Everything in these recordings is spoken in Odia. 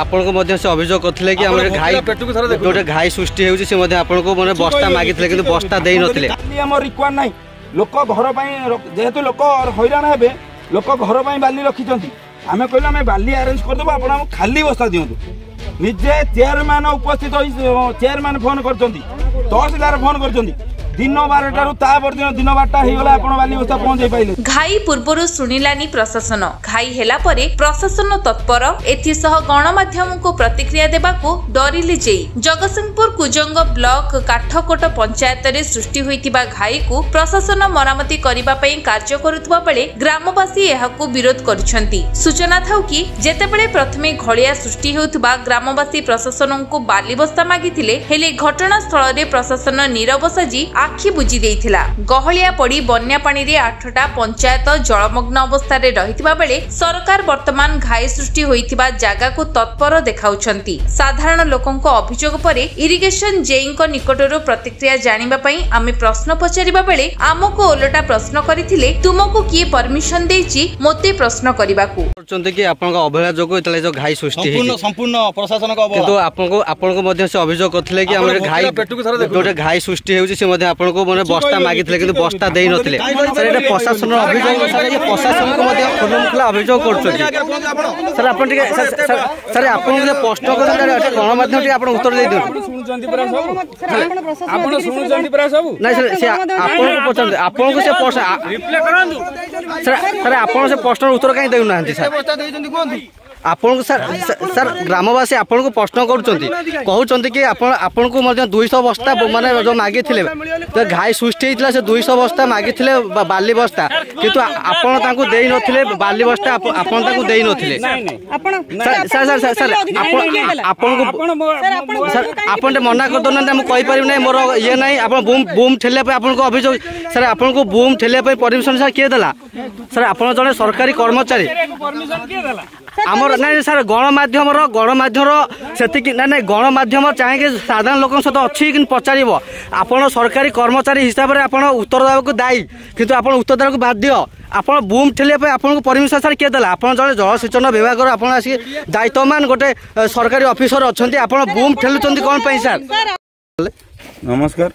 ଆପଣଙ୍କୁ ମଧ୍ୟ ସେ ଅଭିଯୋଗ କରିଥିଲେ କି ଆମର ଘାଇ, ଯୋଉଟା ଘାଇ ସୃଷ୍ଟି ହେଉଛି, ସେ ମଧ୍ୟ ଆପଣଙ୍କୁ ମାନେ ବସ୍ତା ମାଗିଥିଲେ କିନ୍ତୁ ବସ୍ତା ଦେଇନଥିଲେ। ଆମର ରିକ୍ୱାର ନାହିଁ। ଲୋକ ଘର ପାଇଁ, ଯେହେତୁ ଲୋକ ହଇରାଣ ହେବେ, ଲୋକ ଘର ପାଇଁ ବାଲି ରଖିଛନ୍ତି। ଆମେ କହିଲୁ ଆମେ ବାଲି ଆରେଞ୍ଜ କରିଦେବୁ, ଆପଣ ଆମକୁ ଖାଲି ବସ୍ତା ଦିଅନ୍ତୁ। ନିଜେ ଚେୟାରମ୍ୟାନ ଉପସ୍ଥିତ ହୋଇ ଚେୟାରମ୍ୟାନ ଫୋନ କରିଛନ୍ତି, ତହସିଲଦାର ଫୋନ କରିଛନ୍ତି ଦିନ 12ଟାରୁ, ତା ପରଦିନ ଦିନ 12ଟା ହେଇଗଲା ଆପଣ ବାଲି ବସ୍ତା ପହଞ୍ଚେଇ ପାଇଲେ। ଘାଇ ପୂର୍ବରୁ ଶୁଣିଲାନି ପ୍ରଶାସନ, ଘାଇ ହେଲା ପରେ ପ୍ରଶାସନ ତତ୍ପର। ଏଥିସହ ଗଣମାଧ୍ୟମକୁ ପ୍ରତିକ୍ରିୟା ଦେବାକୁ ଡରିଲେ ଜେଇ। ଜଗତସିଂହପୁର କୁଜଙ୍ଗ ବ୍ଲକ କାଠକୋଟ ପଞ୍ଚାୟତରେ ସୃଷ୍ଟି ହୋଇଥିବା ଘାଇକୁ ପ୍ରଶାସନ ମରାମତି କରିବା ପାଇଁ କାର୍ଯ୍ୟ କରୁଥିବା ବେଳେ ଗ୍ରାମବାସୀ ଏହାକୁ ବିରୋଧ କରିଛନ୍ତି। ସୂଚନା ଥାଉ କି, ଯେତେବେଳେ ପ୍ରଥମେ ଘଳିଆ ସୃଷ୍ଟି ହେଉଥିବା ଗ୍ରାମବାସୀ ପ୍ରଶାସନଙ୍କୁ ବାଲି ବସ୍ତା ମାଗିଥିଲେ, ହେଲେ ଘଟଣାସ୍ଥଳରେ ପ୍ରଶାସନ ନୀରବ ସାଜି ଆଖି ବୁଜି ଦେଇଥିଲା। ଗହଳିଆ ପଡ଼ି ବନ୍ୟା ପାଣିରେ 8ଟା ପଞ୍ଚାୟତ ଜଳମଗ୍ନ ଅବସ୍ଥାରେ ରହିଥିବା ବେଳେ ସରକାର ବର୍ତ୍ତମାନ ଘାଇ ସୃଷ୍ଟି ହୋଇଥିବା ଜାଗାକୁ ତତ୍ପର ଦେଖାଉଛନ୍ତି। ସାଧାରଣ ଲୋକଙ୍କ ଅଭିଯୋଗ ପରେ ଇରିଗେସନ ଜେଇଙ୍କ ନିକଟରୁ ପ୍ରତିକ୍ରିୟା ଜାଣିବା ପାଇଁ ଆମେ ପ୍ରଶ୍ନ ପଚାରିବା ବେଳେ ଆମକୁ ଓଲଟା ପ୍ରଶ୍ନ କରିଥିଲେ, ତୁମକୁ କିଏ ପରମିଶନ ଦେଇଛି ମୋତେ ପ୍ରଶ୍ନ କରିବାକୁ? କରୁଛନ୍ତି କି ଆପଣଙ୍କ ଅବହେଳା ଯୋଗୁଁ ଯେତେବେଳେ ଯୋଉ ଘାଇ ସୃଷ୍ଟି ହେଇଛି? ସମ୍ପୂର୍ଣ୍ଣ ପ୍ରଶାସନଙ୍କ ଅବହେଳା। କିନ୍ତୁ ଆପଣଙ୍କୁ ମଧ୍ୟ ସେ ଅଭିଯୋଗ କରିଥିଲେ କି ଆମର ଘାଇ, ଯୋଉଟା ଘାଇ ସୃଷ୍ଟି ହେଉଛି, ସେ ମଧ୍ୟ ଆପଣଙ୍କୁ ମାନେ ବସ୍ତା ମାଗିଥିଲେ କିନ୍ତୁ ବସ୍ତା ଦେଇନଥିଲେ। ସାର୍, ଏଇଟା ପ୍ରଶାସନର ଅଭିଯୋଗ। ସାର୍, ଇଏ ପ୍ରଶାସନକୁ ମଧ୍ୟ ଖୁଲମଖୁଲା ଅଭିଯୋଗ କରୁଛନ୍ତି। ସାର୍, ଆପଣ ଟିକେ, ସାର୍, ଆପଣଙ୍କୁ ଯେ ପ୍ରଶ୍ନ କରୁଛନ୍ତି ଗଣମାଧ୍ୟମ, ଟିକେ ଆପଣ ଉତ୍ତର ଦେଇଦିଅନ୍ତୁ। ଆପଣ ଶୁଣୁଛନ୍ତି ପୁରା ସବୁ? ନାଇଁ ସାର୍, ସେ ଆପଣଙ୍କୁ ପଚାରନ୍ତୁ, ଆପଣଙ୍କୁ ସେ ପ୍ରଶ୍ନ। ସାର୍, ସାର୍, ଆପଣ ସେ ପ୍ରଶ୍ନର ଉତ୍ତର କାହିଁ ଦେଉନାହାନ୍ତି ସାର୍? ଆପଣଙ୍କୁ ସାର୍, ସାର୍, ଗ୍ରାମବାସୀ ଆପଣଙ୍କୁ ପ୍ରଶ୍ନ କରୁଛନ୍ତି, କହୁଛନ୍ତି କି ଆପଣ ଆପଣଙ୍କୁ ମଧ୍ୟ 200 ବସ୍ତା ମାନେ ଯେଉଁ ମାଗିଥିଲେ, ଘାଇ ସୃଷ୍ଟି ହେଇଥିଲା, ସେ 200 ବସ୍ତା ମାଗିଥିଲେ ବାଲି ବସ୍ତା, କିନ୍ତୁ ଆପଣ ତାଙ୍କୁ ଦେଇନଥିଲେ ବାଲି ବସ୍ତା, ଆପଣ ତାଙ୍କୁ ଦେଇନଥିଲେ। ସାର୍, ସାର୍, ସାର୍, ଆପଣ ଆପଣଙ୍କୁ, ସାର୍, ଆପଣ ଟିକେ ମନା କରିଦେଉନାହାନ୍ତି, ମୁଁ କହିପାରିବି ନାହିଁ, ମୋର ଇଏ ନାହିଁ। ଆପଣ ବୁମ୍ ବୁମ୍ ଠେଲିବା ପାଇଁ ଆପଣଙ୍କୁ ଅଭିଯୋଗ। ସାର୍, ଆପଣଙ୍କୁ ବୁମ୍ ଠେଲିବା ପାଇଁ ପରମିଶନ ସାର୍ କିଏ ଦେଲା? ସାର୍, ଆପଣ ଜଣେ ସରକାରୀ କର୍ମଚାରୀ ଆମର। ନାଇଁ ସାର୍, ଗଣମାଧ୍ୟମର ସେତିକି ନାଇଁ। ନାଇଁ, ଗଣମାଧ୍ୟମ ଚାହିଁକି ସାଧାରଣ ଲୋକଙ୍କ ସହିତ ଅଛି କିନ୍ତୁ ପଚାରିବ। ଆପଣ ସରକାରୀ କର୍ମଚାରୀ ହିସାବରେ ଆପଣ ଉତ୍ତର ଦେବାକୁ ଦାୟୀ, କିନ୍ତୁ ଆପଣ ଉତ୍ତର ଦେବାକୁ ବାଧ୍ୟ। ଆପଣ ବୁମ୍ ଠେଲିବା ପାଇଁ ଆପଣଙ୍କୁ ପରମିଶନ ସାର୍ କିଏ ଦେଲା? ଆପଣ ଜଣେ ଜଳସେଚନ ବିଭାଗର, ଆପଣ ଆସିକି ଦାୟିତ୍ୱମାନ ଗୋଟେ ସରକାରୀ ଅଫିସର ଅଛନ୍ତି, ଆପଣ ବୁମ୍ ଠେଲୁଛନ୍ତି କ'ଣ ପାଇଁ ସାର୍? ନମସ୍କାର,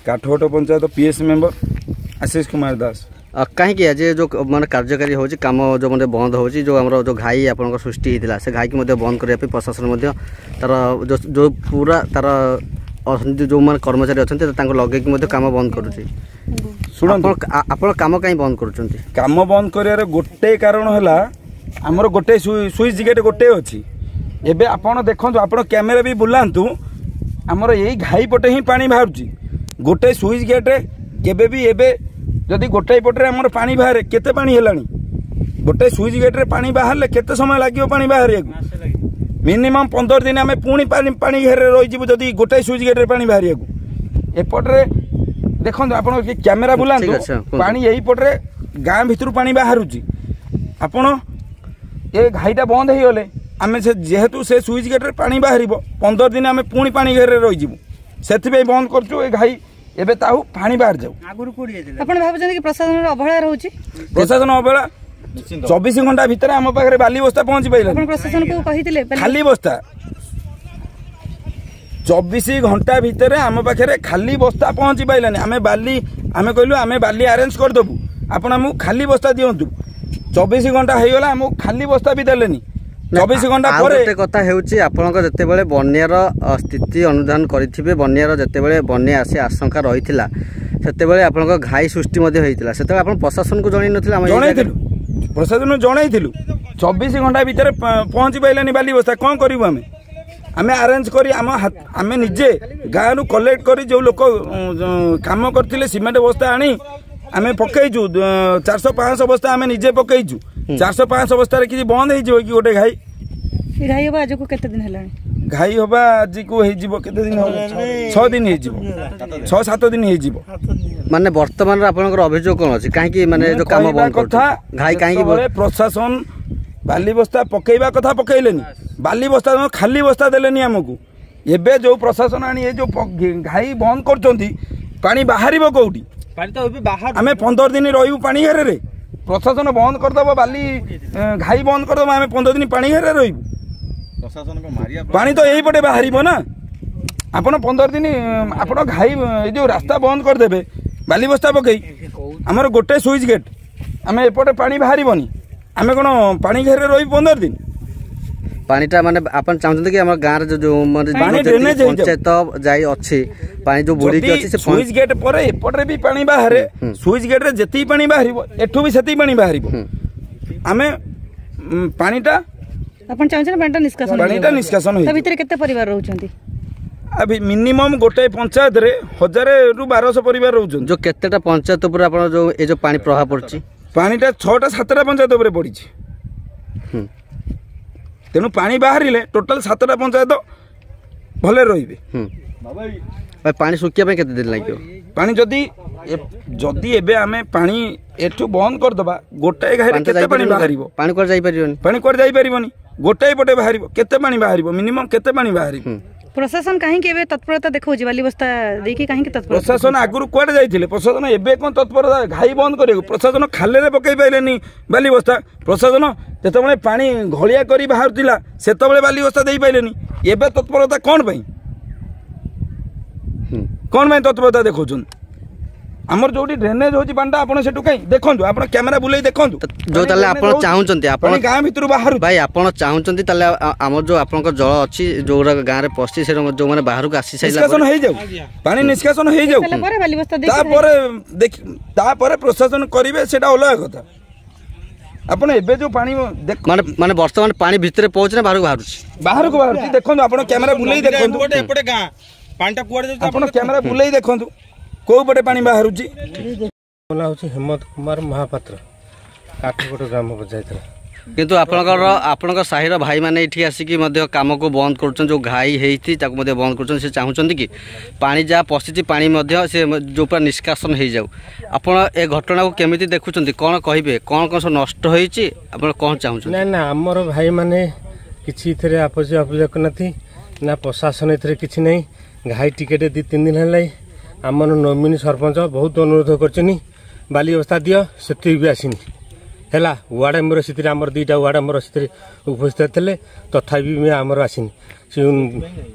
କାଠଗୋଟ ପଞ୍ଚାୟତ ପିଏସ୍ ମେମ୍ବର ଆଶିଷ କୁମାର ଦାସ। କାହିଁକି ଆଜି ଯେଉଁ ମାନେ କାର୍ଯ୍ୟକାରୀ ହେଉଛି, କାମ ଯେଉଁ ମଧ୍ୟ ବନ୍ଦ ହେଉଛି, ଯେଉଁ ଆମର ଯେଉଁ ଘାଇ ଆପଣଙ୍କ ସୃଷ୍ଟି ହେଇଥିଲା, ସେ ଘାଇକି ମଧ୍ୟ ବନ୍ଦ କରିବା ପାଇଁ ପ୍ରଶାସନ ମଧ୍ୟ ତାର ଯେଉଁ ପୁରା ତାର ଯେଉଁମାନେ କର୍ମଚାରୀ ଅଛନ୍ତି ତାଙ୍କୁ ଲଗେଇକି ମଧ୍ୟ କାମ ବନ୍ଦ କରୁଛି। ଶୁଣନ୍ତୁ, ଆପଣ କାମ କାହିଁ ବନ୍ଦ କରୁଛନ୍ତି? କାମ ବନ୍ଦ କରିବାର ଗୋଟେ କାରଣ ହେଲା, ଆମର ଗୋଟେ ସୁଇଚ୍ ଗେଟ୍ ଗୋଟେ ଅଛି। ଏବେ ଆପଣ ଦେଖନ୍ତୁ, ଆପଣ କ୍ୟାମେରା ବି ବୁଲାନ୍ତୁ, ଆମର ଏଇ ଘାଇ ପଟେ ହିଁ ପାଣି ବାହାରୁଛି। ଗୋଟେ ସୁଇଚ୍ ଗେଟ୍ରେ କେବେ ବି, ଏବେ ଯଦି ଗୋଟାଏ ପଟରେ ଆମର ପାଣି ବାହାରେ, କେତେ ପାଣି ହେଲାଣି? ଗୋଟେ ସୁଇଚ୍ ଗେଟ୍ରେ ପାଣି ବାହାରିଲେ କେତେ ସମୟ ଲାଗିବ ପାଣି ବାହାରିବାକୁ? ମିନିମମ୍ 15 ଦିନ ଆମେ ପୁଣି ପାଣି ଘେରରେ ରହିଯିବୁ ଯଦି ଗୋଟାଏ ସୁଇଚ୍ ଗେଟ୍ରେ ପାଣି ବାହାରିବାକୁ। ଏପଟରେ ଦେଖନ୍ତୁ, ଆପଣ କ୍ୟାମେରା ବୁଲାନ୍ତୁ, ପାଣି ଏଇପଟରେ ଗାଁ ଭିତରୁ ପାଣି ବାହାରୁଛି। ଆପଣ ଏ ଘାଇଟା ବନ୍ଦ ହେଇଗଲେ ଆମେ ସେ ଯେହେତୁ ସେ ସୁଇଚ୍ ଗେଟ୍ରେ ପାଣି ବାହାରିବ, 15 ଦିନ ଆମେ ପୁଣି ପାଣି ଘେରରେ ରହିଯିବୁ। ସେଥିପାଇଁ ବନ୍ଦ କରୁଛୁ ଏ ଘାଇ। ଏବେ ତାକୁ ପାଣି ବାହାରି ଯାଉ। ଆପଣ ଭାବୁଛନ୍ତି କି ପ୍ରଶାସନର ଅବହେଳା ରହୁଛି? ପ୍ରଶାସନ ଅବହେଳା। 24 ଘଣ୍ଟା ଭିତରେ ଆମ ପାଖରେ ବାଲି ବସ୍ତା ପହଞ୍ଚି ପାରିଲାନି। ପ୍ରଶାସନକୁ କହିଥିଲେ ଖାଲି ବସ୍ତା, 24 ଘଣ୍ଟା ଭିତରେ ଆମ ପାଖରେ ଖାଲି ବସ୍ତା ପହଞ୍ଚି ପାରିଲାନି। ଆମେ ବାଲି, ଆମେ କହିଲୁ ଆମେ ବାଲି ଆରେଞ୍ଜ କରିଦେବୁ, ଆପଣ ଆମକୁ ଖାଲି ବସ୍ତା ଦିଅନ୍ତୁ। 24 ଘଣ୍ଟା ହେଇଗଲା, ଆମକୁ ଖାଲି ବସ୍ତା ବି ଦେଲେନି। 24 ଘଣ୍ଟା ପରେ ଗୋଟେ କଥା ହେଉଛି, ଆପଣଙ୍କ ଯେତେବେଳେ ବନ୍ୟାର ସ୍ଥିତି ଅନୁଧ୍ୟାନ କରିଥିବେ, ବନ୍ୟାର ଯେତେବେଳେ ବନ୍ୟା ଆସି ଆଶଙ୍କା ରହିଥିଲା, ସେତେବେଳେ ଆପଣଙ୍କ ଘାଇ ସୃଷ୍ଟି ମଧ୍ୟ ହେଇଥିଲା, ସେତେବେଳେ ଆପଣ ପ୍ରଶାସନକୁ ଜଣେଇ ନଥିଲେ? ଆମେ ଜଣେଇଥିଲୁ, ପ୍ରଶାସନକୁ ଜଣେଇଥିଲୁ। 24 ଘଣ୍ଟା ଭିତରେ ପହଞ୍ଚି ପାରିଲାନି ବାଲି ବସ୍ତା, କ'ଣ କରିବୁ ଆମେ? ଆମେ ଆରେଞ୍ଜ କରି ଆମ ଆମେ ନିଜେ ଗାଁରୁ କଲେକ୍ଟ କରି, ଯେଉଁ ଲୋକ କାମ କରିଥିଲେ, ସିମେଣ୍ଟ ବସ୍ତା ଆଣି ଆମେ ପକେଇଛୁ। 400 500 ବସ୍ତା ଆମେ ନିଜେ ପକେଇଛୁ। 400 500 ବସ୍ତାରେ କିଛି ବନ୍ଦ ହେଇଯିବ କି ଗୋଟେ ଘାଇ? ଘାଇ ହବା ଆଜକୁ କେତେ ଦିନ ହେଲାଣି? ଘାଇ ହବା ଆଜିକୁ ହେଇଯିବ କେତେ ଦିନ ହବ? 6 ଦିନ ହେଇଯିବ, 6 7 ଦିନ ହେଇଯିବ। ମାନେ ବର୍ତ୍ତମାନର ଆପଣଙ୍କର ଅଭିଯୋଗ କଣ ଅଛି? କାହିଁକି ମାନେ ଯୋଉ କାମ ବନ୍ଦ କଥା, ଘାଇ କାହିଁକି? ପ୍ରଶାସନ ବାଲି ବସ୍ତା ପକେଇବା କଥା ପକେଇଲେନି, ବାଲି ବସ୍ତା ଖାଲି ବସ୍ତା ଦେଲେନି ଆମକୁ। ଏବେ ଯୋଉ ପ୍ରଶାସନ ଆଣି ଏ ଯୋଉ ଘାଇ ବନ୍ଦ କରୁଛନ୍ତି, ପାଣି ବାହାରିବ କୋଉଠି? ଆମେ 15 ଦିନ ରହିବୁ ପାଣି ଘେରରେ। ପ୍ରଶାସନ ବନ୍ଦ କରିଦେବ, ବାଲି ଘାଇ ବନ୍ଦ କରିଦେବ, ଆମେ 15 ଦିନ ପାଣି ଘେରରେ ରହିବୁ। ପାଣି ତ ଏଇପଟେ ବାହାରିବ ନା। ଆପଣ 15 ଦିନ ଆପଣ ଘାଇ ଏ ଯେଉଁ ରାସ୍ତା ବନ୍ଦ କରିଦେବେ ବାଲି ବସ୍ତା ପକେଇ, ଆମର ଗୋଟେ ସୁଇଚ୍ ଗେଟ୍, ଆମେ ଏପଟେ ପାଣି ବାହାରିବନି, ଆମେ କ'ଣ ପାଣି ଘେରରେ ରହିବୁ 15 ଦିନ? ପାଣିଟା ମାନେ ଆପଣ ଚାହୁଁଛନ୍ତି କି ଆମ ଗାଁରେ ଯୋଉ ମାନେ ପଞ୍ଚାୟତ ଯାଇ ଅଛି, ପାଣି ଯୋଉ ବୁଡ଼ିକି ଅଛି, ସେ ସୁଇଚ୍ ଗେଟ୍ ପରେ ଏପଟରେ ବି ପାଣି ବାହାରେ। ସୁଇଚ୍ ଗେଟ୍ରେ ଯେତିକି ପାଣି ବାହାରିବ ଏଠୁ ବି ସେତିକି ପାଣି ବାହାରିବ। ଆମେ ପାଣିଟା ଆପଣ ଚାହୁଁଛନ୍ତି ପାଣିଟା ନିଷ୍କାସନ, ପାଣିଟା ନିଷ୍କାସନ। ତା ଭିତରେ କେତେ ପରିବାର ରହୁଛନ୍ତି? ମିନିମମ୍ ଗୋଟେ ପଞ୍ଚାୟତରେ 1000ରୁ 1200 ପରିବାର ରହୁଛନ୍ତି। ଯୋଉ କେତେଟା ପଞ୍ଚାୟତ ଉପରେ ଆପଣ ଯୋଉ ଏ ଯୋଉ ପାଣି ପ୍ରଭାବ ପଡୁଛି? ପାଣିଟା 6ଟା 7ଟା ପଞ୍ଚାୟତ ଉପରେ ପଡ଼ିଛି। ତେଣୁ ପାଣି ବାହାରିଲେ ଟୋଟାଲ 7ଟା ପଞ୍ଚାୟତ ଭଲରେ ରହିବେ। ପାଣି ଶୁଖିବା ପାଇଁ କେତେ ଦିନ ଲାଗିବ? ପାଣି ଯଦି ଯଦି ଏବେ ଆମେ ପାଣି ଏଠୁ ବନ୍ଦ କରିଦେବା, ଗୋଟାଏ ଘାଇରେ କେତେ ପାଣି ବାହାରିବ? ପାଣି କୁଆଡ଼େ ଯାଇପାରିବନି, ପାଣି କୁଆଡ଼େ ଯାଇପାରିବନି। ଗୋଟାଏ ପଟେ ବାହାରିବ, କେତେ ପାଣି ବାହାରିବ? ମିନିମମ୍ କେତେ ପାଣି ବାହାରିବ? ପ୍ରଶାସନ କାହିଁକି ଏବେ ତତ୍ପରତା ଦେଖାଉଛି ବାଲି ବସ୍ତା ଦେଇକି? କାହିଁକି ତତ୍ପରତା? ପ୍ରଶାସନ ଆଗରୁ କୁଆଡ଼େ ଯାଇଥିଲେ? ପ୍ରଶାସନ ଏବେ କ'ଣ ତତ୍ପରତା ଘାଇ ବନ୍ଦ କରିବାକୁ? ପ୍ରଶାସନ ଖାଲରେ ପକେଇ ପାଇଲେନି ବାଲି ବସ୍ତା। ପ୍ରଶାସନ ଯେତେବେଳେ ପାଣି ଘଳିଆ କରି ବାହାରୁଥିଲା ସେତେବେଳେ ବାଲି ବସ୍ତା ଦେଇପାରିଲେନି, ଏବେ ତତ୍ପରତା କ'ଣ ପାଇଁ? କ'ଣ ପାଇଁ ତତ୍ପରତା ଦେଖାଉଛନ୍ତି? ଆମର ଯୋଉଠି ଡ୍ରେନେଜ ହଉଛି ପାଣିଟା, ଆପଣ ସେଠୁ କାହିଁ ଦେଖନ୍ତୁ, ଆପଣ କ୍ୟାମେରା ବୁଲେଇ ଦେଖନ୍ତୁ। ଯୋଉ ତାହେଲେ ଆପଣ ଚାହୁଁଛନ୍ତି ଆପଣ ଗାଁ ଭିତରୁ ବାହାରୁ ଭାଇ, ଆପଣ ଚାହୁଁଛନ୍ତି ତାହେଲେ ଆମର ଯୋଉ ଆପଣଙ୍କ ଜଳ ଅଛି ଯୋଉଗୁଡ଼ା ଗାଁରେ ପଶିଛି, ସେ ଯୋଉମାନେ ବାହାରକୁ ଆସି ସାରିଲା ନିଷ୍କାସନ ହେଇଯାଉ, ପାଣି ନିଷ୍କାସନ ହେଇଯାଉ, ତାପରେ ଦେଖି ତାପରେ ପ୍ରଶାସନ କରିବେ, ସେଇଟା ଅଲଗା କଥା। ଆପଣ ଏବେ ଯୋଉ ପାଣି ମାନେ ମାନେ ବର୍ତ୍ତମାନ ପାଣି ଭିତରେ ପହଞ୍ଚି ନା ବାହାରକୁ ବାହାରୁଛି? ବାହାରକୁ ବାହାରୁଛି। ଦେଖନ୍ତୁ, ଆପଣ କ୍ୟାମେରା ବୁଲେଇ ଦେଖନ୍ତୁ, ଏପଟେ ଗାଁ ପାଣିଟା କୁଆଡ଼େ ଯାଉଛି, ଆପଣ କ୍ୟାମେରା ବୁଲେଇ ଦେଖନ୍ତୁ କୋଉ ପଟେ ପାଣି ବାହାରୁଛି। ମୋ ନାଁ ହେଉଛି ହେମନ୍ତ କୁମାର ମହାପାତ୍ର, କାଠକୋଟ ଗ୍ରାମ ପଞ୍ଚାୟତର। କିନ୍ତୁ ଆପଣଙ୍କର ଆପଣଙ୍କ ସାହିର ଭାଇମାନେ ଏଠି ଆସିକି ମଧ୍ୟ କାମକୁ ବନ୍ଦ କରୁଛନ୍ତି, ଯେଉଁ ଘାଇ ହେଇଛି ତାକୁ ମଧ୍ୟ ବନ୍ଦ କରୁଛନ୍ତି। ସେ ଚାହୁଁଛନ୍ତି କି ପାଣି ଯାହା ପଶିଛି ପାଣି ମଧ୍ୟ ସେ ଯେଉଁ ପୁରା ନିଷ୍କାସନ ହେଇଯାଉ। ଆପଣ ଏ ଘଟଣାକୁ କେମିତି ଦେଖୁଛନ୍ତି, କ'ଣ କହିବେ? କ'ଣ କ'ଣ ସବୁ ନଷ୍ଟ ହେଇଛି, ଆପଣ କ'ଣ ଚାହୁଁଛନ୍ତି? ନା ନା, ଆମର ଭାଇମାନେ କିଛି ଏଥିରେ ଆପତ୍ତି ଅଭିଯୋଗ କରିନାହାନ୍ତି, ନା ପ୍ରଶାସନ ଏଥିରେ କିଛି ନାହିଁ। ଘାଇ ଟିକେଟ 2 3 ଦିନ ହେଲାଣି, ଆମର ନମିନୀ ସରପଞ୍ଚ ବହୁତ ଅନୁରୋଧ କରିଛନ୍ତି ବାଲି ବସ୍ତା ଦିଅ, ସେତିକି ବି ଆସିନି। ହେଲା ୱାର୍ଡ଼ ମେମ୍ବର ସେଥିରେ, ଆମର 2ଟା ୱାର୍ଡ଼ ମେମ୍ବର ସେଥିରେ ଉପସ୍ଥିତ ଥିଲେ, ତଥାପି ବି ଆମର ଆସିନି। ସେ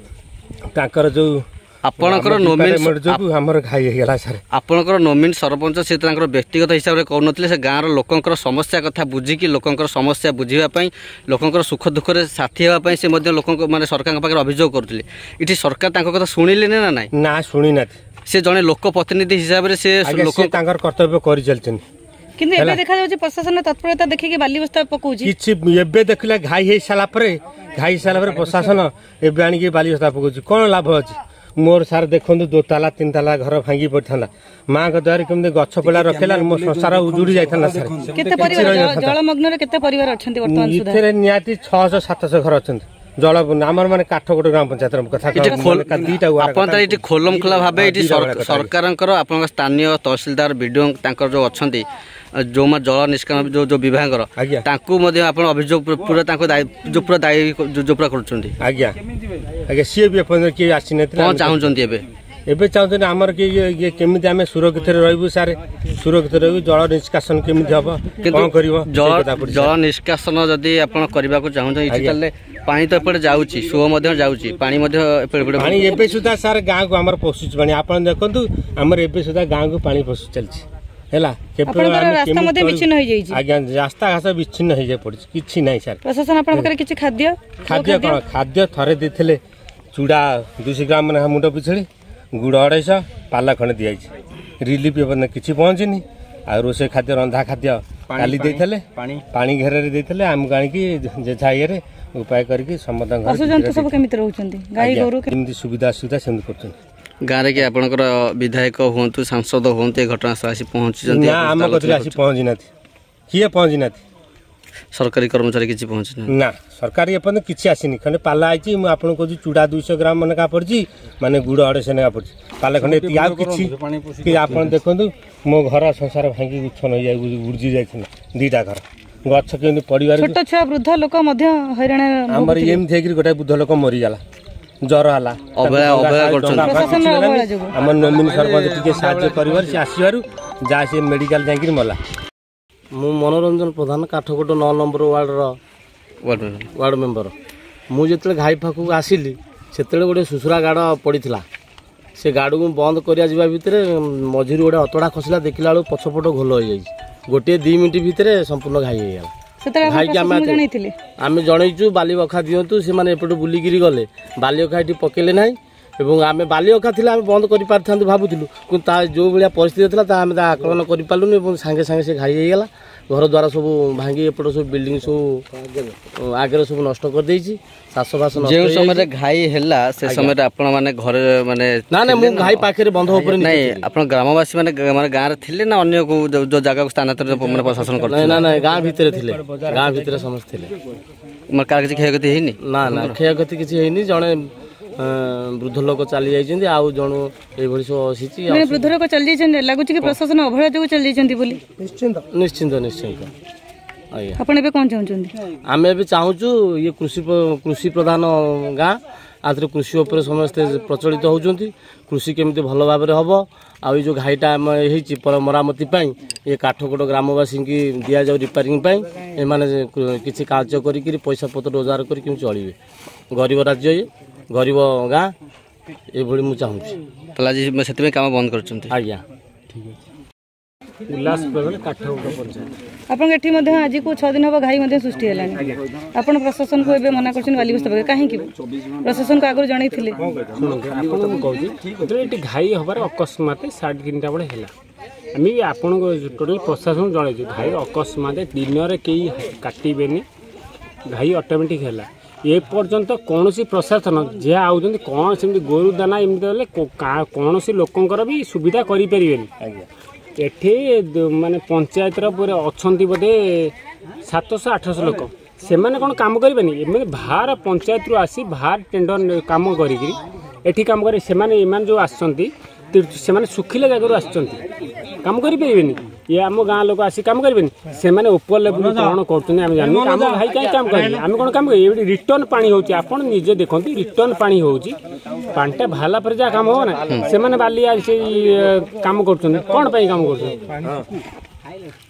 ତାଙ୍କର ଯେଉଁ ଆପଣଙ୍କର ନୋମିନ ଯୋଗୁଁ ଆମର ଘାଇ ହେଇଗଲା ସାର୍। ଆପଣଙ୍କର ନୋମିନ ସରପଞ୍ଚ ସେ ତାଙ୍କର ବ୍ୟକ୍ତିଗତ ହିସାବରେ କହୁନଥିଲେ, ସେ ଗାଁର ଲୋକଙ୍କର ସମସ୍ୟା କଥା ବୁଝିକି, ଲୋକଙ୍କର ସମସ୍ୟା ବୁଝିବା ପାଇଁ, ଲୋକଙ୍କର ସୁଖ ଦୁଃଖରେ ସାଥୀ ହେବା ପାଇଁ ସେ ମଧ୍ୟ ଲୋକଙ୍କ ମାନେ ସରକାରଙ୍କ ପାଖରେ ଅଭିଯୋଗ କରୁଥିଲେ। ଏଠି ସରକାର ତାଙ୍କ କଥା ଶୁଣିଲେନି ନା ନାଇଁ? ନା, ଶୁଣିନାହାନ୍ତି। ସେ ଜଣେ ଲୋକ ପ୍ରତିନିଧି ହିସାବରେ ସେ ଲୋକ ତାଙ୍କର କର୍ତ୍ତବ୍ୟ କରିଚାଲିଛନ୍ତି। କିନ୍ତୁ ଏବେ ଦେଖାଯାଉଛି ପ୍ରଶାସନ ତତ୍ପରତା ଦେଖିକି ବାଲି ବସ୍ତା ପକଉଛି। କିଛି ଏବେ ଦେଖିଲା ଘାଇ ହେଇ ସାରିଲା ପରେ, ଘାଇ ସାରିଲା ପରେ ପ୍ରଶାସନ ଏବେ ଆଣିକି ବାଲି ବସ୍ତା ପକଉଛି, କ'ଣ ଲାଭ ଅଛି? ମୋର ସାର୍ ଦେଖନ୍ତୁ, ଦୋତାଲା ତିନିତାଲା ଘର ଭାଙ୍ଗି ପଡ଼ିଥାନ୍ତା, ମାଙ୍କ ଦ୍ୱାରା କେମିତି ଗଛ ପଡ଼ିଲା ରଖିଲା, ମୋ ସଂସାର ଉଜୁଡ଼ି ଯାଇଥାନ୍ତା ସାର୍। କେତେ ପରିବାର ଜଳମଗ୍ନରେ, କେତେ ପରିବାର ଅଛନ୍ତି ବର୍ତ୍ତମାନ? ଏଥିରେ ନିହାତି 600 700 ଘର ଅଛନ୍ତି ଜଳ ଆମର, ମାନେ କାଠକୋଟ ଗ୍ରାମ ପଞ୍ଚାୟତର କଥା। 2ଟା ଆପଣ ତାହେଲେ ଏଠି ଖୋଲମ ଖୋଲା ଭାବେ ଏଠି ସରକାରଙ୍କର ଆପଣଙ୍କ ସ୍ଥାନୀୟ ତହସିଲଦାର, ବିଡିଓ ତାଙ୍କର ଯୋଉ ଅଛନ୍ତି, ଯେଉଁମାନେ ଜଳ ନିଷ୍କାସନ ଯୋଉ ଯୋଉ ବିଭାଗର, ତାଙ୍କୁ ମଧ୍ୟ ଆପଣ ଅଭିଯୋଗ ପୁରା ତାଙ୍କୁ ଯୋଉ ପୁରା ଦାୟୀ ଯୋଉ ପୁରା କରୁଛନ୍ତି? ଆଜ୍ଞା ଆଜ୍ଞା, ସିଏ ବି ଏପର୍ଯ୍ୟନ୍ତ କିଏ ଆସିନଥିଲେ। କ'ଣ ଚାହୁଁଛନ୍ତି ଏବେ? ଏବେ ଚାହୁଁଛନ୍ତି ଆମର କି ଇଏ କେମିତି ଆମେ ସୁରକ୍ଷିତରେ ରହିବୁ ସାର୍, ସୁରକ୍ଷିତ ରହିବୁ, ଜଳ ନିଷ୍କାସନ କେମିତି ହବ, କଣ କରିବ? ଜଳ ନିଷ୍କାସନ ଯଦି ଆପଣ କରିବାକୁ ଚାହୁଁଛନ୍ତି ଏଠି, ତାହେଲେ ପାଣି ତ ଏପଟେ ଯାଉଛି, ସୁଅ ମଧ୍ୟ ଯାଉଛି, ପାଣି ମଧ୍ୟ ଏପଟେ ପାଣି ଏବେ ସୁଦ୍ଧା ସାର୍ ଗାଁକୁ ଆମର ପଶୁଛି ପାଣି। ଆପଣ ଦେଖନ୍ତୁ, ଆମର ଏବେ ସୁଦ୍ଧା ଗାଁକୁ ପାଣି ପଶୁ ଚାଲିଛି। ହେଲା ରାସ୍ତା ମଧ୍ୟ ବିଚ୍ଛିନ୍ନ ହେଇଯାଇଛି। ଆଜ୍ଞା, ରାସ୍ତା ଘାସ ବିଚ୍ଛିନ୍ନ ହେଇଯାଇ ପଡିଛି, କିଛି ନାହିଁ ସାର୍। ପ୍ରଶାସନ ଆପଣଙ୍କ ପାଖରେ କିଛି ଖାଦ୍ୟ? ଖାଦ୍ୟ କ'ଣ, ଖାଦ୍ୟ ଥରେ ଦେଇଥିଲେ ଚୁଡ଼ା 200 ଗ୍ରାମ ଲେଖା ମୁଣ୍ଡ ପିଛୁଳି, ଗୁଡ଼ 250, ପାଲା ଖଣ୍ଡେ ଦିଆଯାଇଛି। ରିଲିଫ ଏପର୍ଯ୍ୟନ୍ତ କିଛି ପହଞ୍ଚିନି। ଆଉ ରୋଷେଇ ଖାଦ୍ୟ, ରନ୍ଧା ଖାଦ୍ୟ କାଲି ଦେଇଥିଲେ, ପାଣି ଘେରରେ ଦେଇଥିଲେ ଆମକୁ ଆଣିକି, ଯେଝା ଇଏରେ ଉପାୟ କରିକି ସମସ୍ତଙ୍କ ଘରେ। ପଶୁଜନ୍ତୁ ସବୁ କେମିତି ରହୁଛନ୍ତି? ଗାଈ ଗୋରୁ ଯେମିତି ସୁବିଧା ଅସୁବିଧା ସେମିତି କରୁଛନ୍ତି। ଗାଁରେ କି ଆପଣଙ୍କର ବିଧାୟକ ହୁଅନ୍ତୁ, ସାଂସଦ ହୁଅନ୍ତୁ, ଏ ଘଟଣା ଆସି ପହଞ୍ଚିଛନ୍ତି? ନା, ଆମ କତିରେ ଆସି ପହଞ୍ଚି ନାହାନ୍ତି, କିଏ ପହଞ୍ଚି ନାହାନ୍ତି। ସରକାରୀ କର୍ମଚାରୀ କିଛି ପହଞ୍ଚି ନା? ସରକାରୀ ଏପର୍ଯ୍ୟନ୍ତ କିଛି ଆସିନି। ଖଣ୍ଡେ ପାଲା ଆଇଛି। ମୁଁ ଆପଣଙ୍କୁ କହୁଛି, ଚୁଡ଼ା 200 ଗ୍ରାମ ଲେଖା ପଡ଼ିଛି, ମାନେ ଗୁଡ଼ 250 ଲେଖା ପଡ଼ିଛି, ପାଲା ଖଣ୍ଡେ ଏତିକି, ଆଉ କିଛି। ଆପଣ ଦେଖନ୍ତୁ, ମୋ ଘର ସଂସାର ଭାଙ୍ଗି ଉଚ୍ଛନ୍ନ ହେଇଯାଇ ଉଡି ଯାଇଥିଲା 2ଟା ଘର, ଗଛ କେମିତି ପଡ଼ିବାର। ଛୋଟ ଛୁଆ ବୃଦ୍ଧ ଲୋକ ମଧ୍ୟ ହଇରାଣ। ଆମର ଏମିତି ହେଇକିରି ଗୋଟେ ବୃଦ୍ଧ ଲୋକ ମରିଗଲା, ଜ୍ୱର ହେଲା। ଅବହେଳା ଅବହେଳା କରୁଛନ୍ତି। ଆମ ନମିନୀ ସରପଞ୍ଚ ଟିକେ ସାହାଯ୍ୟ କରିବାରୁ, ସେ ଆସିବାରୁ ଯାହା ସେ ମେଡିକାଲ ଯାଇକିରି ମଲା। ମୁଁ ମନୋରଞ୍ଜନ ପ୍ରଧାନ, କାଠକୋଟ 9 ନମ୍ବର ୱାର୍ଡ଼ର ୱାର୍ଡ଼ ମେମ୍ବର। ମୁଁ ଯେତେବେଳେ ଘାଇ ପାଖକୁ ଆସିଲି ସେତେବେଳେ ଗୋଟେ ସୁସୁରା ଗାଡ଼ ପଡ଼ିଥିଲା। ସେ ଗାଡ଼କୁ ବନ୍ଦ କରିବା ଯିବା ଭିତରେ ମଝିରୁ ଗୋଟେ ଅତଡ଼ା ଖସିଲା, ଦେଖିଲା ବେଳକୁ ପଛପଟ ଘୋଲ ହେଇଯାଇଛି। ଗୋଟିଏ 2 ମିନିଟ୍ ଭିତରେ ସମ୍ପୂର୍ଣ୍ଣ ଘାଇ ହେଇଗଲା। ଘାଇକି ଆମେ ଜଣେଇଛୁ ବାଲି ଅଖା ଦିଅନ୍ତୁ, ସେମାନେ ଏପଟୁ ବୁଲିକିରି ଗଲେ, ବାଲି ଅଖା ଏଠି ପକେଇଲେ ନାହିଁ। ଏବଂ ଆମେ ବାଲି ଅଖା ଥିଲା ଆମେ ବନ୍ଦ କରିପାରିଥାନ୍ତୁ ଭାବୁଥିଲୁ, କିନ୍ତୁ ତା ଯେଉଁ ଭଳିଆ ପରିସ୍ଥିତି ଥିଲା ତା ଆମେ ତା ଆକଳନ କରିପାରିଲୁନି। ଏବଂ ସାଙ୍ଗେ ସାଙ୍ଗେ ସେ ଘାଇ ହେଇଗଲା, ଘର ଦ୍ୱାର ସବୁ ଭାଙ୍ଗି ଏପଟ ସବୁ ବିଲ୍ଡିଂ ସବୁ ଆଗରେ ସବୁ ନଷ୍ଟ କରିଦେଇଛି, ଚାଷବାସ। ଯେଉଁ ସମୟରେ ଘାଇ ହେଲା ସେ ସମୟରେ ଆପଣ ମାନେ ଘରେ ମାନେ? ନା ନା, ମୁଁ ଘାଇ ପାଖରେ ବନ୍ଧ ଉପରେ। ନାଇଁ, ଆପଣ ଗ୍ରାମବାସୀ ମାନେ ମାନେ ଗାଁରେ ଥିଲେ ନା ଅନ୍ୟ କୋଉ ଯୋଉ ଜାଗାକୁ ସ୍ଥାନାନ୍ତରିତ ମାନେ ପ୍ରଶାସନ କରିଥିଲେ? ନା ନା, ଗାଁ ଭିତରେ ଥିଲେ, ଗାଁ ଭିତରେ ସମସ୍ତେ ଥିଲେ। ମାନେ କାହାର କିଛି କ୍ଷୟକ୍ଷତି ହେଇନି? ନା ନା, କ୍ଷୟକ୍ଷତି କିଛି ହେଇନି। ଜଣେ ବୃଦ୍ଧ ଲୋକ ଚାଲି ଯାଇଛନ୍ତି, ଆଉ ଜଣୁ ଏଇଭଳି ସବୁ ଆସିଛି। ବୃଦ୍ଧ ଲୋକ ଚାଲି ଯାଇଛନ୍ତି, ଲାଗୁଛି କି ପ୍ରଶାସନ ଅବହେଳା ଯୋଗୁଁ ଚାଲି ଯାଇଛନ୍ତି ବୋଲି? ନିଶ୍ଚିନ୍ତ ନିଶ୍ଚିନ୍ତ ନିଶ୍ଚିନ୍ତ ଆଜ୍ଞା। ଆପଣ ଏବେ କଣ ଚାହୁଁଛନ୍ତି? ଆମେ ଏବେ ଚାହୁଁଛୁ ଇଏ କୃଷି ପ୍ରଧାନ ଗାଁ, ଆଥିରେ କୃଷି ଉପରେ ସମସ୍ତେ ପ୍ରଚଳିତ ହେଉଛନ୍ତି। କୃଷି କେମିତି ଭଲ ଭାବରେ ହେବ, ଆଉ ଏଇ ଯେଉଁ ଘାଇଟା ଆମ ହେଇଛି ମରାମତି ପାଇଁ ଏ କାଠକୋଟ ଗ୍ରାମବାସୀଙ୍କୁ ଦିଆଯାଉ ରିପେୟାରିଂ ପାଇଁ। ଏମାନେ କିଛି କାର୍ଯ୍ୟ କରିକିରି ପଇସା ପତ୍ର ରୋଜଗାର କରି କେମିତି ଚଳିବେ। ଗରିବ ରାଜ୍ୟ ଇଏ, ଗରିବ ଗାଁ, ଏଇଭଳି ମୁଁ ଚାହୁଁଛି। ତାହେଲେ ଆଜି ସେଥିପାଇଁ କାମ ବନ୍ଦ କରିଛନ୍ତି? ଆଜ୍ଞା, ଠିକ୍ ଅଛି। ଉଲ୍ଲାସ ପ୍ରଧାନ, କାଠକୋଟ ପଞ୍ଚାୟତ। ଆପଣଙ୍କ ଏଠି ମଧ୍ୟ ଆଜିକୁ 6 ଦିନ ହେବ ଘାଇ ମଧ୍ୟ ସୃଷ୍ଟି ହେଲାଣି। ଆପଣ ପ୍ରଶାସନକୁ ଏବେ ମନା କରୁଛନ୍ତି ବାଲି ବସ୍ତା ପକେଇବା, କାହିଁକି? ପ୍ରଶାସନକୁ ଆଗରୁ ଜଣେଇଥିଲେ? ଶୁଣନ୍ତୁ ଆପଣ, ମୁଁ କହୁଛି, ଯେତେବେଳେ ଏଠି ଘାଇ ହେବାର ଅକସ୍ମାତ 3:30 ବେଳେ ହେଲା, ଆମେ ବି ଆପଣଙ୍କ ଟୋଟାଲ ପ୍ରଶାସନ ଜଣେଇଛୁ, ଘାଇ ଅକସ୍ମାତ ଦିନରେ କେହି କାଟିବେନି, ଘାଇ ଅଟୋମେଟିକ୍ ହେଲା। ଏ ପର୍ଯ୍ୟନ୍ତ କୌଣସି ପ୍ରଶାସନ ଯାହା ଆଉଛନ୍ତି କ'ଣ ସେମିତି ଗୋରୁ ଦାନା ଏମିତି ହେଲେ କୌଣସି ଲୋକଙ୍କର ବି ସୁବିଧା କରିପାରିବେନି। ଏଠି ମାନେ ପଞ୍ଚାୟତର ପୁରା ଅଛନ୍ତି ବୋଧେ 700-800 ଲୋକ, ସେମାନେ କ'ଣ କାମ କରିବେନି? ଏମାନେ ବାହାର ପଞ୍ଚାୟତରୁ ଆସି ବାହାର ଟେଣ୍ଡର କାମ କରିକିରି ଏଠି କାମ କରି ସେମାନେ, ଏମାନେ ଯେଉଁ ଆସିଛନ୍ତି ସେମାନେ ଶୁଖିଲା ଜାଗାରୁ ଆସିଛନ୍ତି, କାମ କରିପାରିବେନି? ଇଏ ଆମ ଗାଁ ଲୋକ ଆସି କାମ କରିବେନି? ସେମାନେ ଉପର ଲେବୁଲ କ'ଣ କରୁଛନ୍ତି ଆମେ ଜାଣିନୁ। ଆମ ଭାଇ କାହିଁ କାମ କରିବେ, ଆମେ କ'ଣ କାମ କରିବୁ? ଏଇଠି ରିଟର୍ନ ପାଣି ହେଉଛି, ଆପଣ ନିଜେ ଦେଖନ୍ତୁ, ରିଟର୍ନ ପାଣି ହେଉଛି। ପାଣିଟା ବାହାରିଲା ପରେ ଯାହା କାମ ହେବ ନା। ସେମାନେ ବାଲି ସେଇ କାମ କରୁଛନ୍ତି, କ'ଣ ପାଇଁ କାମ କରୁଛନ୍ତି?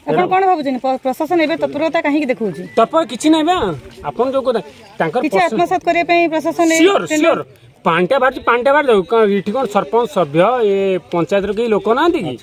ଆପଣ କ'ଣ ଭାବୁଛନ୍ତି ପ୍ରଶାସନ ଏବେ ତତ୍ପରତା କାହିଁକି ଦେଖାଉଛି? ତତ୍ପର କିଛି ନାହିଁ ବା, ଆପଣ ଯୋଉ କଥା ତାଙ୍କର କିଛି ଆତ୍ମସାତ କରିବା ପାଇଁ ପ୍ରଶାସନ। ସିଓର ସିଓର, ପାଣିଟା ବାହାରୁଛି, ପାଣିଟା ବାହାରି ଯାଉ। ଏଠି କ'ଣ ସରପଞ୍ଚ ସଭ୍ୟ ଏ ପଞ୍ଚାୟତର କେହି ଲୋକ ନାହାନ୍ତି କି?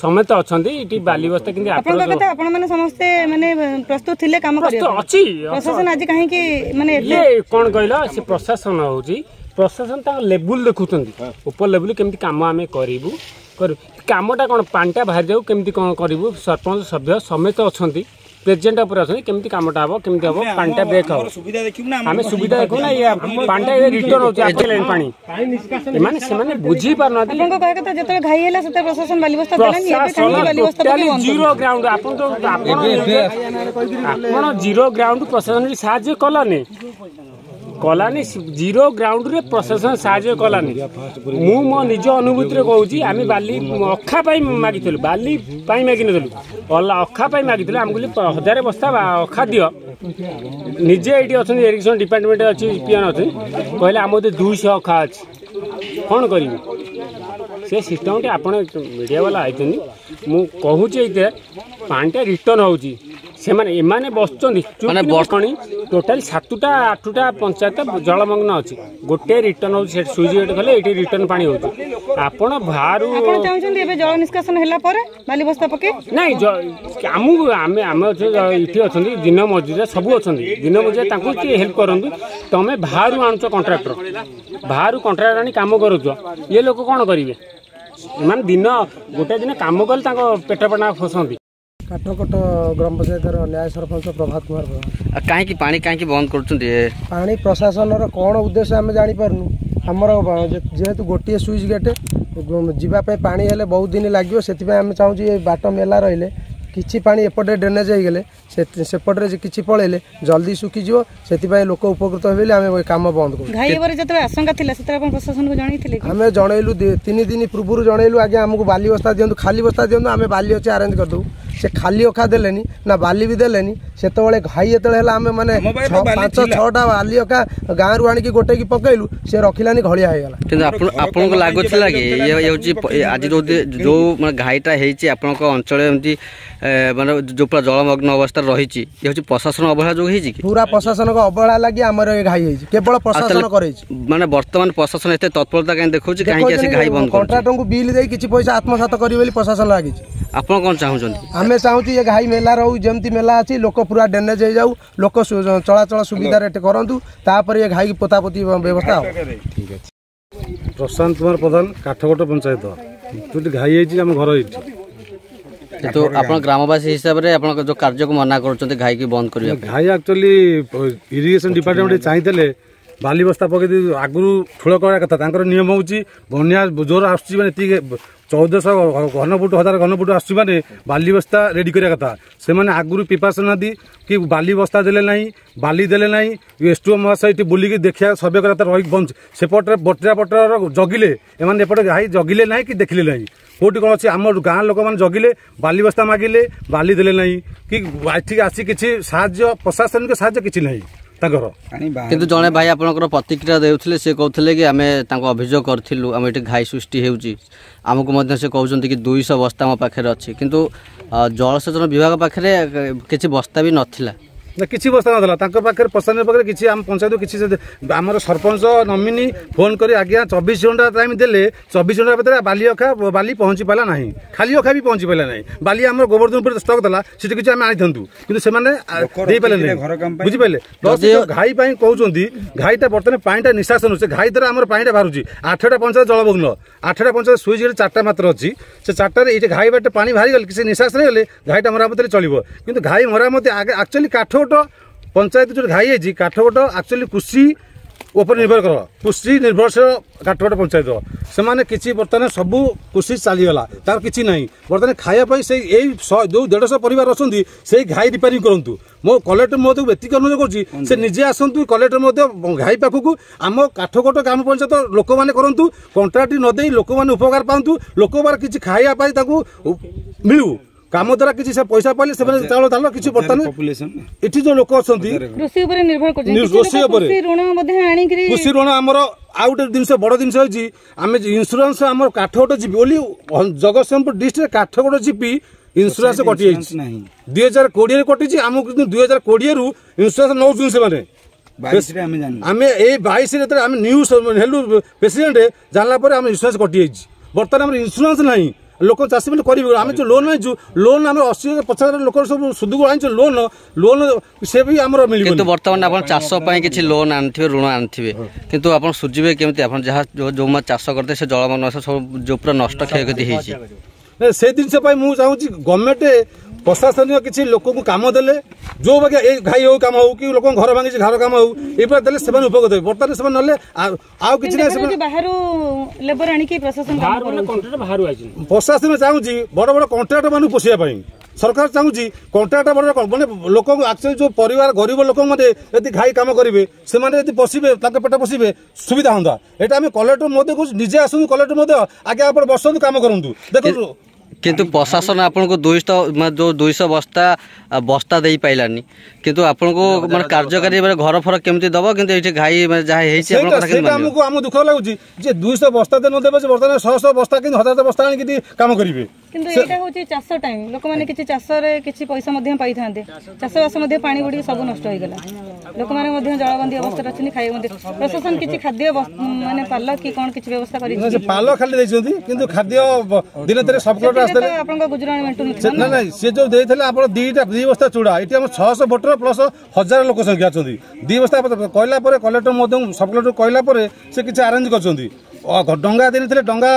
ସମସ୍ତେ ଅଛନ୍ତି ଏଠି। ବାଲି ବସ୍ତା କିନ୍ତୁ ଆପଣଙ୍କ କଥା, ଆପଣ ମାନେ ସମସ୍ତେ ମାନେ ପ୍ରସ୍ତୁତ ଥିଲେ କାମ କରିବାକୁ ଅଛି। ପ୍ରଶାସନ ଆଜି କାହିଁକି ମାନେ ଇଏ କ'ଣ କହିଲ, ସେ ପ୍ରଶାସନ ହଉଛି ପ୍ରଶାସନ ତାଙ୍କ ଲେବୁଲ ଦେଖୁଛନ୍ତି, ଉପର ଲେବୁଲ କେମିତି କାମ ଆମେ କରିବୁ କରିବୁ। କାମଟା କ'ଣ ପାଣିଟା ବାହାରି ଯାଉ, କେମିତି କ'ଣ କରିବୁ। ସରପଞ୍ଚ ସଭ୍ୟ ସମସ୍ତେ ଅଛନ୍ତି, ପ୍ରେସିଡେଣ୍ଟ ଉପରେ ଅଛନ୍ତି, କେମିତି କାମଟା ହବ, କେମିତି ହବ, ପାଣିଟା ବ୍ରେକ୍ ହବ। ଆମେ ସୁବିଧା ଦେଖୁ ନା, ଇଏ ପାଣିଟା ଏବେ ରିଟର୍ନ ହଉଛି ଆସିଲାଣି ପାଣି। ଏମାନେ ସେମାନେ ବୁଝି ପାରୁନାହାନ୍ତି। ଆପଣଙ୍କ କହିବା କଥା ଯେତେବେଳେ ଘାଇ ହେଲା ସେତେବେଳେ ପ୍ରଶାସନ ବାଲି ବସ୍ତା ଦେଲାନି, ଏବେ କାହିଁକି ବାଲି ବସ୍ତା ପକେଇ ବନ୍ଦ? ଜିରୋ ଗ୍ରାଉଣ୍ଡ, ଆପଣ ତ ଆପଣ ଜିରୋ ଗ୍ରାଉଣ୍ଡ ପ୍ରଶାସନ ବି ସାହାଯ୍ୟ କଲାନି କଲାନି। ଜିରୋ ଗ୍ରାଉଣ୍ଡରେ ପ୍ରଶାସନ ସାହାଯ୍ୟ କଲାନି। ମୁଁ ମୋ ନିଜ ଅନୁଭୂତିରେ କହୁଛି, ଆମେ ବାଲି ଅଖା ପାଇଁ ମାଗିଥିଲୁ, ବାଲି ପାଇଁ ମାଗିନଥିଲୁ, ଅଖା ପାଇଁ ମାଗିଥିଲୁ। ଆମକୁ କହିଲେ 1000 ବସ୍ତା ଅଖା ଦିଅ। ନିଜେ ଏଇଠି ଅଛନ୍ତି ଇରିଗେସନ ଡିପାର୍ଟମେଣ୍ଟ ଅଛି, ପିଅନ ଅଛନ୍ତି, କହିଲେ ଆମ 200 ଅଖା ଅଛି, କ'ଣ କରିବି? ସେ ସିଷ୍ଟମଟି ଆପଣ ମିଡ଼ିଆ ବାଲା ଆଇଛନ୍ତି, ମୁଁ କହୁଛି ଏଇଥିରେ ପାଣିଟା ରିଟର୍ନ ହେଉଛି। ସେମାନେ ଏମାନେ ବସୁଛନ୍ତି ମାନେ ଟୋଟାଲି 7ଟା 8ଟା ପଞ୍ଚାୟତ ଜଳମଗ୍ନ ଅଛି। ଗୋଟେ ରିଟର୍ନ ହେଉଛି, ସେଠି ସୁଇଚ୍ ଗେଟ୍ କଲେ ଏଇଠି ରିଟର୍ନ ପାଣି ହେଉଛି। ଆପଣ ବାହାରୁ ଆପଣ ଚାହୁଁଛନ୍ତି ଏବେ ଜଳ ନିଷ୍କାସନ ହେଲା ପରେ ବାଲି ବସ୍ତା ପକେଇ? ନାଇଁ, ଆମକୁ ଆମେ ଆମେ ଅଛୁ ଏଠି ଅଛନ୍ତି ଦିନ ମଜୁରିଆ ସବୁ ଅଛନ୍ତି, ଦିନ ମଜୁରିଆ ତାଙ୍କୁ କିଏ ହେଲ୍ପ କରନ୍ତୁ। ତମେ ବାହାରୁ ଆଣୁଛ କଣ୍ଟ୍ରାକ୍ଟର, ବାହାରୁ କଣ୍ଟ୍ରାକ୍ଟର ଆଣି କାମ କରୁଛ, ଇଏ ଲୋକ କ'ଣ କରିବେ? ଏମାନେ ଦିନ ଗୋଟେ ଦିନ କାମ କଲେ ତାଙ୍କ ପେଟ ପେଟଣା ଫସନ୍ତି। କାଠକୋଟ ଗ୍ରାମ ପଞ୍ଚାୟତର ନ୍ୟାୟ ସରପଞ୍ଚ ପ୍ରଭାତ କୁମାର ପ୍ରଧାନ। କାହିଁକି ପାଣି କାହିଁକି ବନ୍ଦ କରୁଛନ୍ତି? ପାଣି ପ୍ରଶାସନର କ'ଣ ଉଦ୍ଦେଶ୍ୟ ଆମେ ଜାଣିପାରୁନୁ। ଆମର ଯେହେତୁ ଗୋଟିଏ ସୁଇଚ୍ ଗେଟ୍, ଯିବା ପାଇଁ ପାଣି ହେଲେ ବହୁତ ଦିନ ଲାଗିବ। ସେଥିପାଇଁ ଆମେ ଚାହୁଁଛୁ ଏ ବାଟ ମେଲା ରହିଲେ କିଛି ପାଣି ଏପଟେ ଡ୍ରେନେଜ୍ ହେଇଗଲେ ସେପଟରେ କିଛି ପଳେଇଲେ ଜଲ୍ଦି ଶୁଖିଯିବ, ସେଥିପାଇଁ ଲୋକ ଉପକୃତ ହେବେ ବୋଲି ଆମେ କାମ ବନ୍ଦ କରୁ। ଘାଇ ହେବାର ଯେତେବେଳେ ଆଶଙ୍କା ଥିଲା ସେତେବେଳେ ଆପଣ ପ୍ରଶାସନକୁ ଜଣେଇଥିଲେ? ଆମେ ଜଣେଇଲୁ, 3 ଦିନ ପୂର୍ବରୁ ଜଣେଇଲୁ, ଆଜ୍ଞା ଆମକୁ ବାଲି ବସ୍ତା ଦିଅନ୍ତୁ, ଖାଲି ବସ୍ତା ଦିଅନ୍ତୁ, ଆମେ ବାଲି ଅଛି ଆରେଞ୍ଜ କରିଦେବୁ। ସେ ଖାଲି ଅଖା ଦେଲେନି ନା ବାଲି ବି ଦେଲେନି। ସେତେବେଳେ ଘାଇ ଯେତେବେଳେ ହେଲା, ଆମେ ମାନେ 5 6ଟା ବାଲି ଅଖା ଗାଁରୁ ଆଣିକି ଗୋଟେଇକି ପକେଇଲୁ, ସେ ରଖିଲାନି, ଘଳିଆ ହେଇଗଲା। କିନ୍ତୁ ଆପଣଙ୍କୁ ଲାଗୁଥିଲା କି ଇଏ ହେଉଛି ଆଜି ଯୋଉ ଯୋଉ ମାନେ ଘାଇଟା ହେଇଛି ଆପଣଙ୍କ ଅଞ୍ଚଳରେ, ଏମିତି ମାନେ ଯୋଉ ପୁରା ଜଳମଗ୍ନ ଅବସ୍ଥାରେ ରହିଛି, ଇଏ ହେଉଛି ପ୍ରଶାସନ ଅବହେଳା ଯୋଗୁଁ ହେଇଛି କି? ପୁରା ପ୍ରଶାସନଙ୍କ ଅବହେଳା ଲାଗି ଆମର ଏ ଘାଇ ହେଇଛି, କେବଳ ପ୍ରଶାସନ କରେଇଛି। ମାନେ ବର୍ତ୍ତମାନ ପ୍ରଶାସନ ଏତେ ତତ୍ପରତା କାହିଁ ଦେଖାଉଛି, କାହିଁକି ଆସି ଘାଇ ବନ୍ଦ? କଣ୍ଟ୍ରାକ୍ଟରଙ୍କୁ ବିଲ୍ ଦେଇ କିଛି ପଇସା ଆତ୍ମସାତ କରିବେ ବୋଲି ପ୍ରଶାସନ ଲାଗିଛି। ଆପଣ କ'ଣ ଚାହୁଁଛନ୍ତି? ଆମେ ଚାହୁଁଛୁ ଏ ଘାଇ ମେଲା ରହୁ, ଯେମିତି ମେଲା ଅଛି, ଲୋକ ପୁରା ଡ୍ରେନେଜ୍ ହେଇଯାଉ, ଲୋକ ଚଳାଚଳ ସୁବିଧାରେ କରନ୍ତୁ, ତାପରେ ଏ ଘାଇ ପୋତାପୋତି ବ୍ୟବସ୍ଥା ହବ। ଠିକ୍ ଅଛି। ପ୍ରଶାନ୍ତ କୁମାର ପ୍ରଧାନ, କାଠକୋଟ ପଞ୍ଚାୟତ। ଯେଉଁଠି ଘାଇ ହେଇଛି ଆମ ଘର ଏଇଠି। କିନ୍ତୁ ଆପଣ ଗ୍ରାମବାସୀ ହିସାବରେ ଆପଣଙ୍କ ଯୋଉ କାର୍ଯ୍ୟକୁ ମନା କରୁଛନ୍ତି ଘାଇକି ବନ୍ଦ କରିବା? ଘାଇ ଆକ୍ଚୁଆଲି ଇରିଗେସନ ଡିପାର୍ଟମେଣ୍ଟ ଚାହିଁଥିଲେ ବାଲି ବସ୍ତା ପକେଇ ଦେଇ ଆଗରୁ ଠୁଳ କରିବା କଥା। ତାଙ୍କର ନିୟମ ହେଉଛି ବନ୍ୟା ଜୋର ଆସୁଛି ମାନେ ଏତିକି 1400 ଘନଫୁଟ, 1000 ଘନଫୁଟ ଆସୁଛି ମାନେ ବାଲି ବସ୍ତା ରେଡ଼ି କରିବା କଥା। ସେମାନେ ଆଗରୁ ପ୍ରିପାରେସନ୍ ନାହାନ୍ତି କି ବାଲି ବସ୍ତା ଦେଲେ ନାହିଁ, ବାଲି ଦେଲେ ନାହିଁ। ଏସ୍ ଟୁ ମହାଶୟ ଏଠି ବୁଲିକି ଦେଖିବା ସର୍ଭେ କରିବା କଥା, ରହିକି ବଞ୍ଚ ସେପଟରେ ବଟିରା ପଟର ଜଗିଲେ, ଏମାନେ ଏପଟେ ଘାଇ ଜଗିଲେ ନାହିଁ କି ଦେଖିଲେ ନାହିଁ କେଉଁଠି କ'ଣ ଅଛି। ଆମ ଗାଁ ଲୋକମାନେ ଜଗିଲେ, ବାଲି ବସ୍ତା ମାଗିଲେ, ବାଲି ଦେଲେ ନାହିଁ କି ଏଠିକି ଆସି କିଛି ସାହାଯ୍ୟ, ପ୍ରଶାସନିକ ସାହାଯ୍ୟ କିଛି ନାହିଁ ତାଙ୍କର। କିନ୍ତୁ ଜଣେ ଭାଇ ଆପଣଙ୍କର ପ୍ରତିକ୍ରିୟା ଦେଉଥିଲେ, ସେ କହୁଥିଲେ କି ଆମେ ତାଙ୍କୁ ଅଭିଯୋଗ କରିଥିଲୁ, ଆମେ ଏଠି ଘାଇ ସୃଷ୍ଟି ହେଉଛି, ଆମକୁ ମଧ୍ୟ ସେ କହୁଛନ୍ତି କି 200 ବସ୍ତା ଆମ ପାଖରେ ଅଛି, କିନ୍ତୁ ଜଳସେଚନ ବିଭାଗ ପାଖରେ କିଛି ବସ୍ତା ବି ନଥିଲା। ନା, କିଛି ବସ୍ତା ନଥିଲା ତାଙ୍କ ପାଖରେ, ପ୍ରଶାସନ ପାଖରେ କିଛି, ଆମ ପଞ୍ଚାୟତ କିଛି। ଆମର ସରପଞ୍ଚ ନମିନି ଫୋନ୍ କରି ଆଜ୍ଞା 24 ଘଣ୍ଟା ଟାଇମ୍ ଦେଲେ, 24 ଘଣ୍ଟା ଭିତରେ ବାଲି ଅଖା ବାଲି ପହଞ୍ଚି ପାରିଲା ନାହିଁ, ଖାଲି ଅଖା ବି ପହଞ୍ଚି ପାରିଲା ନାହିଁ। ବାଲି ଆମର ଗୋବର୍ଦ୍ଧନପୁରରେ ଷ୍ଟକ୍ ଥିଲା, ସେଠି କିଛି ଆମେ ଆଣିଥାନ୍ତୁ, କିନ୍ତୁ ସେମାନେ ଦେଇପାରିଲେ ନାହିଁ। ବୁଝିପାରିଲେ? ଘାଇ ପାଇଁ କହୁଛନ୍ତି, ଘାଇଟା ବର୍ତ୍ତମାନ ପାଣିଟା ନିଶାସନ, ସେ ଘାଇ ଦ୍ୱାରା ଆମର ପାଣିଟା ବାହାରୁଛି। 8ଟା ପଞ୍ଚାୟତ ଜଳମଗ୍ନ, 8ଟା ପଞ୍ଚାୟତ ସୁଇଚ୍ ଗେଟ୍ 4ଟା ମାତ୍ର ଅଛି। ସେ 4ଟାରେ ଏଇଠି ଘାଇ ବାଟେ ପାଣି ବାହାରିଗଲେ, କିଛି ନିଶାସନ ହେଇଗଲେ ଘାଇଟା ମରାମତି ଚଳିବ। କିନ୍ତୁ ଘାଇ ମରାମତି ଆଗେ ଆକ୍ଚୁଆଲି କାଠକୋଟ ପଞ୍ଚାୟତ ଯେଉଁ ଘାଇ ହେଇଛି, କାଠକୋଟ ଆକ୍ଚୁଆଲି କୃଷି ଉପରେ ନିର୍ଭର କର, କୃଷି ନିର୍ଭରଶୀଳ କାଠକୋଟ ପଞ୍ଚାୟତ। ସେମାନେ କିଛି ବର୍ତ୍ତମାନ ସବୁ କୃଷି ଚାଲିଗଲା, ତାର କିଛି ନାହିଁ ବର୍ତ୍ତମାନ ଖାଇବା ପାଇଁ। ସେଇ ଏଇ ଯେଉଁ 150 ପରିବାର ଅଛନ୍ତି, ସେଇ ଘାଇ ରିପେୟାରିଂ କରନ୍ତୁ। ମୋ କଲେକ୍ଟର ମଧ୍ୟ ଏତିକି ଅନୁରୋଧ କରୁଛି, ସେ ନିଜେ ଆସନ୍ତୁ କଲେକ୍ଟର ମଧ୍ୟ ଘାଇ ପାଖକୁ। ଆମ କାଠକୋଟ ଗ୍ରାମ ପଞ୍ଚାୟତ ଲୋକମାନେ କରନ୍ତୁ, କଣ୍ଟ୍ରାକ୍ଟ ନ ଦେଇ ଲୋକମାନେ ଉପକାର ପାଆନ୍ତୁ, ଲୋକମାନେ କିଛି ଖାଇବା ପାଇଁ ତାଙ୍କୁ ମିଳୁ, କାମ ଦ୍ୱାରା କିଛି ସେ ପଇସା ପାଇଲେ ସେମାନେ ଚାଉଳ ଧାନ କିଛି। ବର୍ତ୍ତମାନ ଏଠି ଯୋଉ ଲୋକ ଅଛନ୍ତି କୃଷି ଉପରେ ନିର୍ଭର କରୁଛନ୍ତି, କୃଷି ଉପରେ ଋଣ ମଧ୍ୟ ଆଣିକିରି କୃଷି ଋଣ। ଆମର ଆଉ ଗୋଟେ ଜିନିଷ, ବଡ଼ ଜିନିଷ ହେଇଛି, ଆମେ ଇନ୍ସୁରାନ୍ସ ଆମର କାଠଗୋଟ ଜିପି ବୋଲି ଜଗତସିଂହପୁର ଡିଷ୍ଟ୍ରିକ୍ଟ କାଠଗୋଟ ଜିପି ଇନ୍ସୁରାନ୍ସ କଟିଯାଇଛି 2020ରେ କଟିଛି ଆମକୁ। କିନ୍ତୁ 2020ରୁ ଇନ୍ସୁରାନ୍ସ ନେଉଛନ୍ତି ସେମାନେ। ଆମେ ଏଇ 22ରେ ଯେତେବେଳେ ଆମେ ନ୍ୟୁ ହେଲୁ ପ୍ରେସିଡେଣ୍ଟ, ଜାଣିଲା ପରେ ଆମ ଇନ୍ସୁରାନ୍ସ କଟିଯାଇଛି। ବର୍ତ୍ତମାନ ଆମର ଇନ୍ସୁରାନ୍ସ ନାହିଁ, ଲୋକ ଚାଷୀମାନେ କରିବେ? ଆମେ ଯେଉଁ ଲୋନ୍ ଆଣିଛୁ, ଲୋନ୍ ଆମେ 80 ହଜାର 50 ହଜାର ଲୋକ ସବୁ ସୁଧକୁ ଆଣିଛୁ ଲୋନ୍, ଲୋନ୍ ସେ ବି ଆମର ମିଳିବ। କିନ୍ତୁ ବର୍ତ୍ତମାନ ଆପଣ ଚାଷ ପାଇଁ କିଛି ଲୋନ୍ ଆଣିଥିବେ, ଋଣ ଆଣିଥିବେ, କିନ୍ତୁ ଆପଣ ସୁଝିବେ କେମିତି? ଆପଣ ଯାହା ଯେଉଁ ଚାଷ କରିଥିବେ ସେ ଜଳମଗ୍ନ ସବୁ ଯେଉଁ ପୁରା ନଷ୍ଟ କ୍ଷୟକ୍ଷତି ହେଇଛି। ସେ ଜିନିଷ ପାଇଁ ମୁଁ ଚାହୁଁଛି ଗଭର୍ଣ୍ଣମେଣ୍ଟ ପ୍ରଶାସନିକ କିଛି ଲୋକଙ୍କୁ କାମ ଦେଲେ, ଯୋଉ ବାକି ଏଇ ଘାଇ ହଉ କାମ ହଉ କି ଲୋକଙ୍କ ଘର ଭାଙ୍ଗିଛି ଘର କାମ ହଉ, ଏଇଭଳିଆ ଦେଲେ ସେମାନେ ଉପକୃତ ହେବେ। ବର୍ତ୍ତମାନ ସେମାନେ ନହେଲେ ଆଉ କିଛି ନାହିଁ। ସେମାନେ ବାହାରୁ ଲେବର ଆଣିକି ପ୍ରଶାସନ, ପ୍ରଶାସନ ଚାହୁଁଛି ବଡ଼ ବଡ଼ କଣ୍ଟ୍ରାକ୍ଟର ମାନଙ୍କୁ ପୋଷିବା ପାଇଁ। ସରକାର ଚାହୁଁଛି କଣ୍ଟ୍ରାକ୍ଟର ବଡ଼ ମାନେ ଲୋକଙ୍କୁ, ଆକ୍ଚୁଆଲି ଯୋଉ ପରିବାର ଗରିବ ଲୋକମାନେ ଯଦି ଘାଇ କାମ କରିବେ, ସେମାନେ ଯଦି ପଶିବେ, ତାଙ୍କ ପେଟ ପୋଷିବେ, ସୁବିଧା ହୁଅନ୍ତା। ଏଇଟା ଆମେ କଲେକ୍ଟର ମଧ୍ୟ କହୁଛୁ, ନିଜେ ଆସନ୍ତୁ କଲେକ୍ଟର ମଧ୍ୟ, ଆଜ୍ଞା ଆପଣ ବସନ୍ତୁ, କାମ କରନ୍ତୁ, ଦେଖନ୍ତୁ। କିନ୍ତୁ ପ୍ରଶାସନ ଆପଣଙ୍କୁ 200 ମାନେ ଯେଉଁ 200 ବସ୍ତା ବସ୍ତା ଦେଇପାରିଲାନି, କିନ୍ତୁ ଆପଣଙ୍କୁ ମାନେ କାର୍ଯ୍ୟକାରୀ ମାନେ ଘର ଫର କେମିତି ଦବ? କିନ୍ତୁ ଏଇଠି ଘାଇ ମାନେ ଯାହା ହେଇଛି ସେଇଟା ଆମକୁ ଆମ ଦୁଃଖ ଲାଗୁଛି ଯେ 200 ବସ୍ତା ନ ଦେବେ, ବର୍ତ୍ତମାନ ଶହ ଶହ ବସ୍ତା କିନ୍ତୁ ହଜାର ବସ୍ତା ଆଣିକି କାମ କରିବେ। କିନ୍ତୁ ଏଇଟା ହଉଛି ଚାଷ ଟାଇମ, ଲୋକମାନେ କିଛି ଚାଷରେ କିଛି ପଇସା ମଧ୍ୟ ପାଇଥାନ୍ତେ। ଚାଷବାସ ମଧ୍ୟ ପାଣି ବୁଡ଼ିକି ସବୁ ନଷ୍ଟ ହେଇଗଲା। ଲୋକମାନେ ମଧ୍ୟ ଜଳବନ୍ଦୀ ଅବସ୍ଥାରେ ଅଛନ୍ତି, ଖାଇବା ମଧ୍ୟ। ପ୍ରଶାସନ କିଛି ଖାଦ୍ୟ ମାନେ ପାଲ କି କ'ଣ କିଛି ବ୍ୟବସ୍ଥା କରିଛି? ପାଲ ଖାଲି ଦେଇଛନ୍ତି, କିନ୍ତୁ ଖାଦ୍ୟ ଦିନେ ଦିନେ ସବ୍ ଆସିଥିଲେ ଆପଣଙ୍କ ଗୁଜୁରାଣ ମେଣ୍ଟୁନଥିଲା? ନା ନାଇଁ, ସେ ଯୋଉ ଦେଇଥିଲେ ଆପଣ 2ଟା 2 ବସ୍ତା ଚୁଡ଼ା। ଏଠି ଆମର 600 ଭୋଟର ପ୍ଲସ୍ 1000 ଲୋକ ସଂଖ୍ୟା ଅଛନ୍ତି। 2 ବସ୍ତା କହିଲା ପରେ କଲେକ୍ଟର ମଧ୍ୟ, ସବ୍ କଲେକ୍ଟର କହିଲା ପରେ ସେ କିଛି ଆରେଞ୍ଜ କରିଛନ୍ତି। ଡଙ୍ଗା ଦେଇଥିଲେ, ଡଙ୍ଗା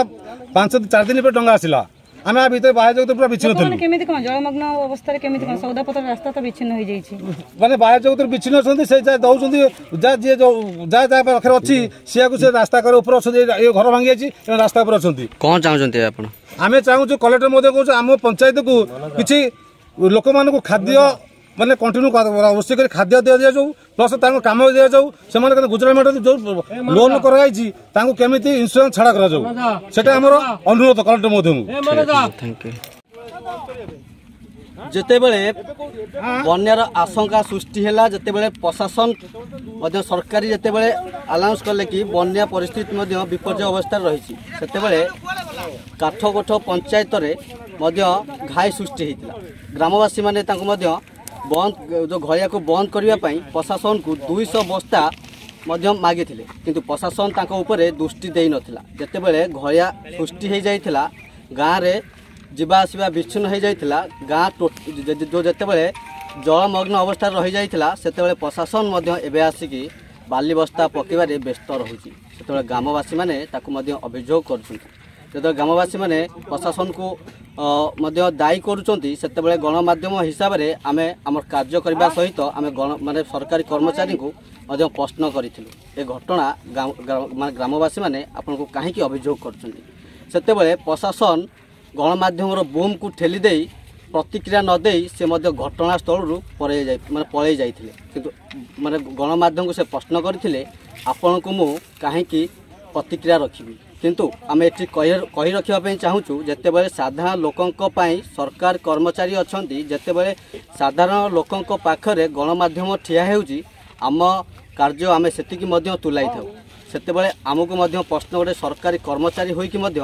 5 4 ଦିନ ପରେ ଡଙ୍ଗା ଆସିଲା। ଆମେ ଆ ଭିତରେ ବାହ୍ୟ ଜଗତ ପୁରା ବିଚ୍ଛିନ୍ନ ଥିଲୁ। କେମିତି କ'ଣ ଜଳମଗ୍ନ ଅବସ୍ଥାରେ କେମିତି କ'ଣ ସଉଦାପତ୍ର, ରାସ୍ତା ତ ବିଚ୍ଛିନ୍ନ ହେଇଯାଇଛି, ମାନେ ବାହ୍ୟ ଜଗତରୁ ବିଚ୍ଛିନ୍ନ ଅଛନ୍ତି। ସେ ଯାହା ଦଉଛନ୍ତି, ଯାହା ଯିଏ ଯାହା ଯାହା ପାଖରେ ଅଛି ସିଆକୁ, ସେ ରାସ୍ତା କରେ ଉପରେ ଅଛନ୍ତି। ଏ ଘର ଭାଙ୍ଗି ଯାଇଛି, ରାସ୍ତା ଉପରେ ଅଛନ୍ତି। କ'ଣ ଚାହୁଁଛନ୍ତି ଆପଣ? ଆମେ ଚାହୁଁଛୁ, କଲେକ୍ଟର ମଧ୍ୟ କହୁଛୁ, ଆମ ପଞ୍ଚାୟତକୁ କିଛି ଲୋକମାନଙ୍କୁ ଖାଦ୍ୟ ମାନେ କଣ୍ଟିନ୍ୟୁ ରୋଷେଇ କରି ଖାଦ୍ୟ ଦିଆଯାଉ, ପ୍ଲସ୍ ତାଙ୍କୁ କାମ ଦିଆଯାଉ। ସେମାନେ ଗୁଜୁରାଟ ଯୋଉ ଲୋନ୍ କରାଯାଇଛି ତାଙ୍କୁ କେମିତି ଇନ୍ସୁରାନ୍ସ ଛାଡ଼ କରାଯାଉ, ସେଟା ଆମର ଅନୁରୋଧ କଲେକ୍ଟର ମଧ୍ୟକୁ। Thank you. ଯେତେବେଳେ ବନ୍ୟାର ଆଶଙ୍କା ସୃଷ୍ଟି ହେଲା, ଯେତେବେଳେ ପ୍ରଶାସନ ମଧ୍ୟ ସରକାରୀ ଯେତେବେଳେ ଆନାଉନ୍ସ କଲେ କି ବନ୍ୟା ପରିସ୍ଥିତି ମଧ୍ୟ ବିପର୍ଯ୍ୟୟ ଅବସ୍ଥାରେ ରହିଛି, ସେତେବେଳେ କାଠଗୋଠ ପଞ୍ଚାୟତରେ ମଧ୍ୟ ଘାଇ ସୃଷ୍ଟି ହେଇଥିଲା। ଗ୍ରାମବାସୀମାନେ ତାଙ୍କୁ ମଧ୍ୟ ବନ୍ଦ, ଯେଉଁ ଘଳିଆକୁ ବନ୍ଦ କରିବା ପାଇଁ ପ୍ରଶାସନକୁ 200 ବସ୍ତା ମଧ୍ୟ ମାଗିଥିଲେ, କିନ୍ତୁ ପ୍ରଶାସନ ତାଙ୍କ ଉପରେ ଦୃଷ୍ଟି ଦେଇନଥିଲା। ଯେତେବେଳେ ଘଳିଆ ସୃଷ୍ଟି ହେଇଯାଇଥିଲା, ଗାଁରେ ଯିବା ଆସିବା ବିଚ୍ଛିନ୍ନ ହେଇଯାଇଥିଲା, ଗାଁ ଯେଉଁ ଯେତେବେଳେ ଜଳମଗ୍ନ ଅବସ୍ଥାରେ ରହିଯାଇଥିଲା, ସେତେବେଳେ ପ୍ରଶାସନ ମଧ୍ୟ ଏବେ ଆସିକି ବାଲି ବସ୍ତା ପକାଇବାରେ ବ୍ୟସ୍ତ ରହୁଛି। ସେତେବେଳେ ଗ୍ରାମବାସୀମାନେ ତାକୁ ମଧ୍ୟ ଅଭିଯୋଗ କରୁଛନ୍ତି। ଯେତେବେଳେ ଗ୍ରାମବାସୀମାନେ ପ୍ରଶାସନକୁ ମଧ୍ୟ ଦାୟୀ କରୁଛନ୍ତି, ସେତେବେଳେ ଗଣମାଧ୍ୟମ ହିସାବରେ ଆମେ ଆମର କାର୍ଯ୍ୟ କରିବା ସହିତ ଆମେ ଗଣ ମାନେ ସରକାରୀ କର୍ମଚାରୀଙ୍କୁ ମଧ୍ୟ ପ୍ରଶ୍ନ କରିଥିଲୁ, ଏ ଘଟଣା ମାନେ ଗ୍ରାମବାସୀମାନେ ଆପଣଙ୍କୁ କାହିଁକି ଅଭିଯୋଗ କରୁଛନ୍ତି? ସେତେବେଳେ ପ୍ରଶାସନ ଗଣମାଧ୍ୟମର ବୁମ୍କୁ ଠେଲି ଦେଇ ପ୍ରତିକ୍ରିୟା ନ ଦେଇ ସେ ମଧ୍ୟ ଘଟଣାସ୍ଥଳରୁ ପଳେଇ ଯାଇ ମାନେ ପଳେଇ ଯାଇଥିଲେ। କିନ୍ତୁ ମାନେ ଗଣମାଧ୍ୟମକୁ ସେ ପ୍ରଶ୍ନ କରିଥିଲେ, ଆପଣଙ୍କୁ ମୁଁ କାହିଁକି ପ୍ରତିକ୍ରିୟା ରଖିବି? କିନ୍ତୁ ଆମେ ଏଠି କହି ରଖିବା ପାଇଁ ଚାହୁଁଛୁ, ଯେତେବେଳେ ସାଧାରଣ ଲୋକଙ୍କ ପାଇଁ ସରକାର କର୍ମଚାରୀ ଅଛନ୍ତି, ଯେତେବେଳେ ସାଧାରଣ ଲୋକଙ୍କ ପାଖରେ ଗଣମାଧ୍ୟମ ଠିଆ ହେଉଛି, ଆମ କାର୍ଯ୍ୟ ଆମେ ସେତିକି ମଧ୍ୟ ତୁଲାଇଥାଉ। ସେତେବେଳେ ଆମକୁ ମଧ୍ୟ ପ୍ରଶ୍ନ, ଗୋଟେ ସରକାରୀ କର୍ମଚାରୀ ହୋଇକି ମଧ୍ୟ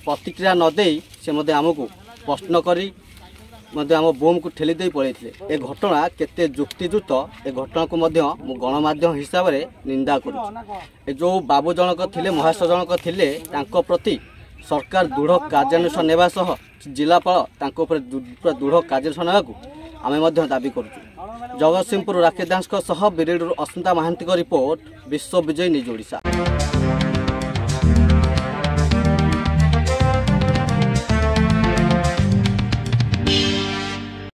ପ୍ରତିକ୍ରିୟା ନ ଦେଇ ସେ ମଧ୍ୟ ଆମକୁ ପ୍ରଶ୍ନ କରି ମଧ୍ୟ ଆମ ବୋମ୍କୁ ଠେଲି ଦେଇ ପଳାଇଥିଲେ। ଏ ଘଟଣା କେତେ ଯୁକ୍ତିଯୁକ୍ତ? ଏ ଘଟଣାକୁ ମଧ୍ୟ ମୁଁ ଗଣମାଧ୍ୟମ ହିସାବରେ ନିନ୍ଦା କରୁଛି। ଏ ଯେଉଁ ବାବୁ ଜଣକ ଥିଲେ, ମହାଶୟ ଜଣକ ଥିଲେ, ତାଙ୍କ ପ୍ରତି ସରକାର ଦୃଢ଼ କାର୍ଯ୍ୟାନୁଷ୍ଠାନ ନେବା ସହ ଜିଲ୍ଲାପାଳ ତାଙ୍କ ଉପରେ ପୁରା ଦୃଢ଼ କାର୍ଯ୍ୟାନୁଷ୍ଠାନ ନେବାକୁ ଆମେ ମଧ୍ୟ ଦାବି କରୁଛୁ। ଜଗତସିଂହପୁର ରାକେଶ ଦାସଙ୍କ ସହ ବିରେଡ଼ିରୁ ଅସ୍ମିତା ମହାନ୍ତିଙ୍କ ରିପୋର୍ଟ, ବିଶ୍ୱ ବିଜୟୀ ନ୍ୟୁଜ୍ ଓଡ଼ିଶା।